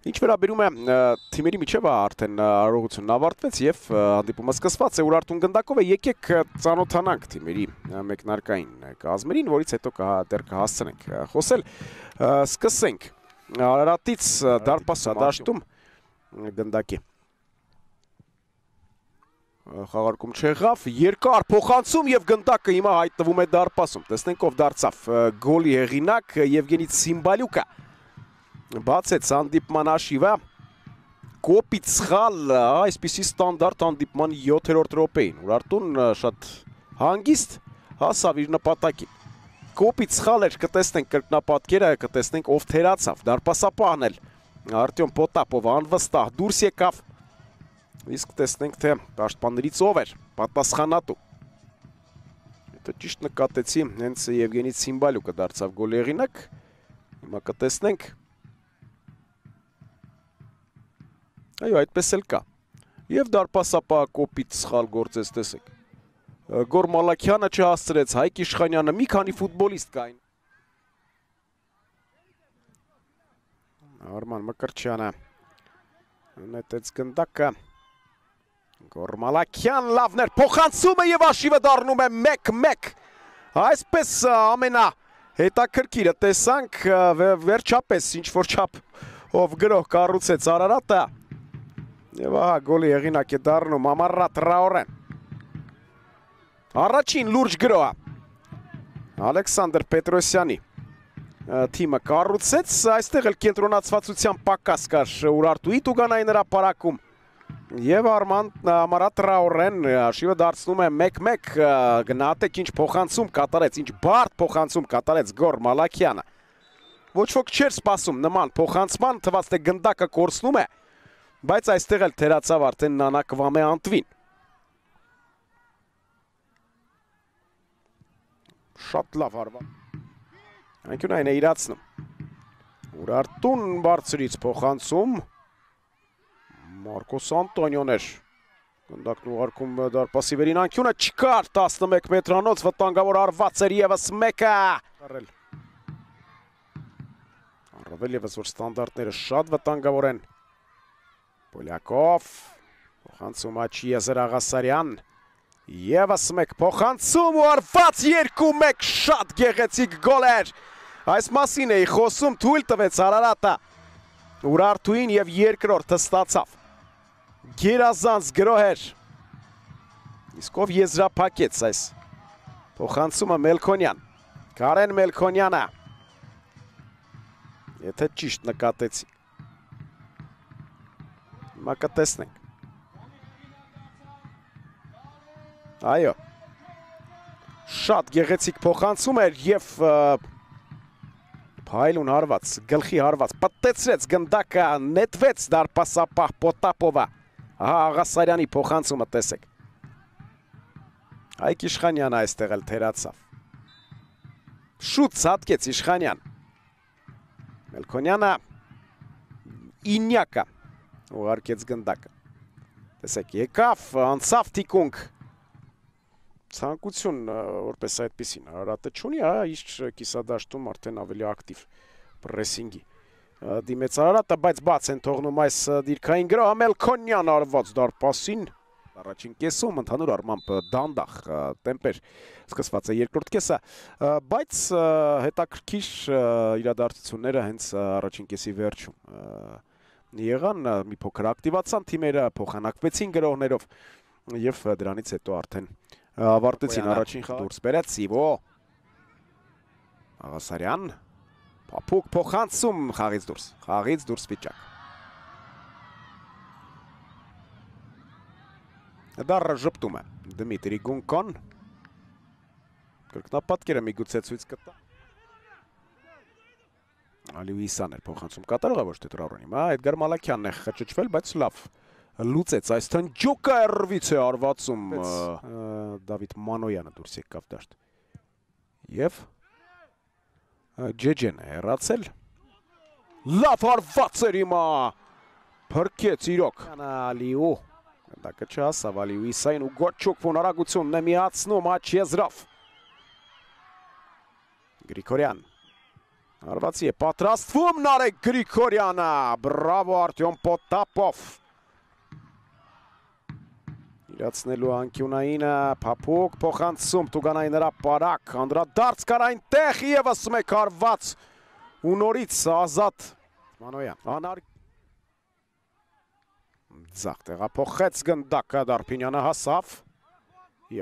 Ինչ վերաբերում է թիմերի միջև արդեն արարողությունն ավարտվեց եւ հանդիպումը սկսված է Ուրարտուն գնդակով է եկեք ծանոթանանք թիմերի մեկնարկային կազմերին, որից հետո դեռ կհասցնենք խոսել։ Սկսենք Արարատից դարպասը դաշտում գնդակի խաղարկում չեղավ, երկար փոխանցում եւ գնդակը հիմա հայտնվում է դարպասում։ Տեսնենք ով դարձավ գոլի հեղինակ Եվգենի Ցիմբալյուկը։ Բացեց հանդիպման հաշիվը, կոպիտ սխալ, այսպիսի ստանդարտ հանդիպման 7-րդ րոպեին, Ուրարտուն շատ հանգիստ հասավ իր նպատակին, կոպիտ սխալ էր, կտեսնենք կրկնապատկերը, կտեսնենք ով թերացավ, դարպասապահն էլ, Արտյոմ Պոտապովը անվստահ դուրս եկավ, իսկ տեսնենք թե պաշտպաններից ով էր, պատասխանատու, հետո ճիշտ նկատեցի, հենց Եվգենի Ցիմբալյուկը դարձավ գոլի հեղինակ, հիմա կտեսնենք Այո, այդպես էլ կա։ Եվ դարպասապահը կոպիտ սխալ գործեց, տեսեք։ Գոր Մալաքյանը չհասցրեց, Հայկ Իշխանյանը, մի քանի ֆուտբոլիստ կային։ Արման Մկրտչյանը նետեց գնդակը։ Գոր Մալաքյան լավն էր, փոխանցումը եւ հաշիվը դառնում է 1-1։ Այսպես ամենա հետաքրքիրը տեսանք, վերջապես ինչ-որ չափ ով գրող կառուցեց Արարատը։ Եվ ահա գոլի հեղինակ է դառնում Ամարա Տրաորեն։ Առաջին լուրջ գրոհը Ալեքսանդր Պետրոսյանի թիմը կառուցեց, այստեղ էլ կենտրոնացվածության պակաս կար Ուրարտուի Տուգանային հրապարակում։ Եվ Ամարա Տրաորեն հաշիվը դարձնում է 1-1, գնահատեք ինչ փոխանցում կատարեց, ինչ բարդ փոխանցում կատարեց Գոր Մալաքյանը։ Ոչ ոք չէր սպասում նման փոխանցման, թվաց թե գնդակը կորցնում է, բայց այստեղ էլ թերացավ արդեն Նանակ Վամե Անտվին։ Շատ լավ հարված։ Անկյունային է իրացնում։ Ուրարտուն բարձրից փոխանցում։ Մարկոս Անտոնիոն էր։ Գնդակն ուղարկում դարպասի վերին անկյունը չկար 11 մետրանոց վտանգավոր արված էր ևս մեկը։ Առավել ևս որ ստանդարտները շատ վտանգավոր են։ Պոլյակով, փոխանցում Աչի Եզեր Աղասարյան, ևս մեկ փոխանցում ու արված 2-1 շատ գեղեցիկ գոլ էր, այս մասին էի խոսում, թույլ տվեց Արարատը, Ուրարտուին և երկրորդը ստացավ, գերազանց գրոհ էր, իսկ ով եզրափակեց այս փոխանցումը Մելքոնյան, Կարեն Մելքոնյանը, եթե ճիշտ նկատեցի. Հիմա կտեսնենք։ Այո, շատ գեղեցիկ փոխանցում էր և փայլուն հարված, գլխի հարված, պտտեցրեց գնդակը, նետվեց դարպասապահ Պոտապովը, ահա Աղասարյանի փոխանցումը տեսեք։ Հայկ Իշխանյանը այստեղ էլ թերացավ։ Շուտ ցատկեց Իշխանյան։ Մելքոնյանը ինյակը ուղարկեց գնդակը, տեսեք, եկավ, անցավ թիկունք, ցանկություն, որպես այդպիսին, Արարատը չունի, իսկ կիսադաշտում արդեն ավելի ակտիվ պրեսինգի դիմեց Արարատը, բայց բաց են թողնում այս դիրքային գրոհը, Մելքոնյան արված դարպասին, առաջին կեսում ընդհանուր առմամբ դանդաղ տեմպեր սկսված է երկրորդ կեսը, բայց հետաքրքիր իրադարձությունները հենց առաջին կեսի վերջում եղան, մի փոքր ակտիվացան թիմերը, փոխանակվեցին գրողներով և դրանից հետո արդեն ավարտեցին առաջին դուրս բերեց Սիվո Աղասարյան, փափուկ փոխանցում խաղից դուրս վիճակ։ Դառը ժպտում է Դմիտրի Գունկոն, կրկնապատկերը միգուցե ցույց կտա։ Ալիուիսան էր փոխանցում կատարողը, ոչ թե Տրաորենի, Էդգար Մալաքյանն է խճճվել, բայց լավ լուծեց այս թնջուկը Էրվից է արվածում Դավիթ Մանոյանը դուրս եկավ դաշտ։ Եվ Ջեջեն է հեռացել։ Լավ հարված էր հիմա, փրկեց իրոք։ Ալիու, գնդակը չհասավ Ալիուիսային ու Գոչուկվուն արագությունն է միացնում Աչիեզրով։ Գրիգորյան, Հարվածի է պատրաստվում Նարեկ Գրիգորյանը, բրավո Արտյոմ Պոտապով։ Իրացնելու անկյունայինը փափուկ փոխանցում Տուգանային հրապարակ, անդրադարձ կար այնտեղ ևս մեկ հարված ու նորից Ազատ Մանոյան։ Ձախ տեղափոխեց գնդակը, Դարփինյանը հասավ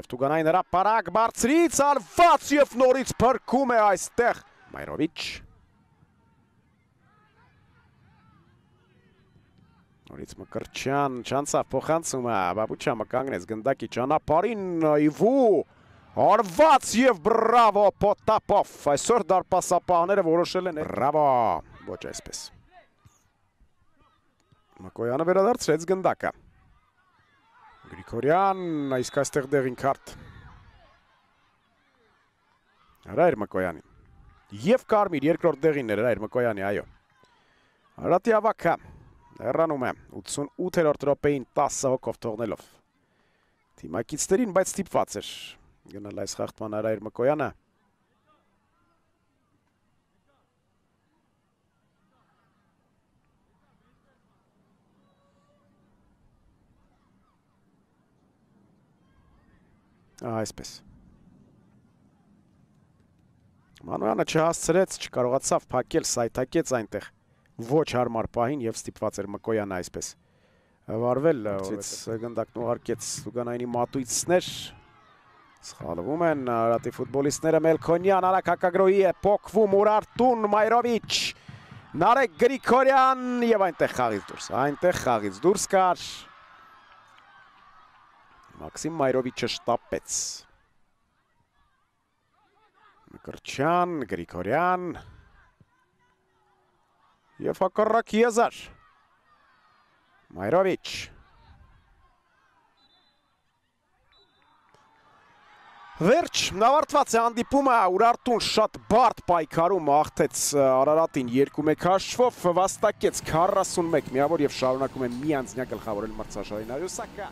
և Տուգանային հրապարակ բարձրից արված և նորից փրկում է այստեղ Մայրովիչ։ Նորից Մկրտչյան չանցավ փոխանցումը, Բաբուչյանը կանգնեց գնդակի ճանապարհին, Իվու հարված և բրավո Պոտապով, այսօր դարպասապահները որոշել են, բրավո, ոչ այսպես։ Մակոյանը վերադարձրեց գնդակը։ Գրիգորյան, իսկ այստեղ դեղին քարտ։ Հրայր Մակոյանին։ Եվ կարմիր երկրորդ դեղին էր Հրայր Մակոյանի, այո։ Արատի ավակը հեռանում է 88-րդ րոպեին 10 հոգով թողնելով թիմակիցներին, բայց ստիպված էր գնալ այս խախտման Հրայր Մակոյանը։ Այսպես։ Մանոյանը չհասցրեց, չկարողացավ փակել, սայթակեց այնտեղ ոչ հարմար պահին և ստիպված էր Մկոյանը այսպես վարվել, գնդակն ուղարկեց Տուգանայինի մատույցներ, սխալվում են Արատի ֆուտբոլիստները, Մելքոնյան արագ հակագրոհի է, փոխվում Ուրարտուն, Մայրովիչ, Նարեկ Գրիգորյան և այնտեղ խաղից դուրս կար, Մաքսիմ Մայրովիչը շտապեց, Մկրտչյան, Գրիգորյան և հակառակ Եզար, Մայրովիչ, վերջ, ավարտված է հանդիպումը, Ուրարտուն շատ բարդ պայքարում աղթեց Արարատին 2-1 հաշվով, վաստակեց 41 միավոր և շարունակում է միանձնյա գլխավորել մրցաշարի Նարյուսակը։